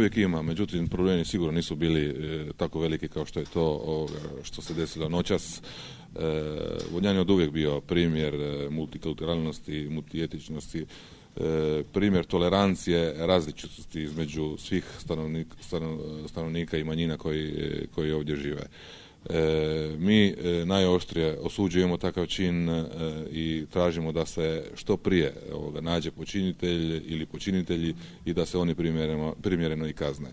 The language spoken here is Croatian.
uvijek ima, međutim problemi sigurno nisu bili tako veliki kao što je to što se desilo noćas. Vodnjan je od uvijek bio primjer multikulturalnosti, multietičnosti, primjer tolerancije, različitosti između svih stanovnika i manjina koji ovdje žive. Mi najoštrije osuđujemo takav čin i tražimo da se što prije nađe počinitelj ili počinitelji i da se oni primjereno i kazne.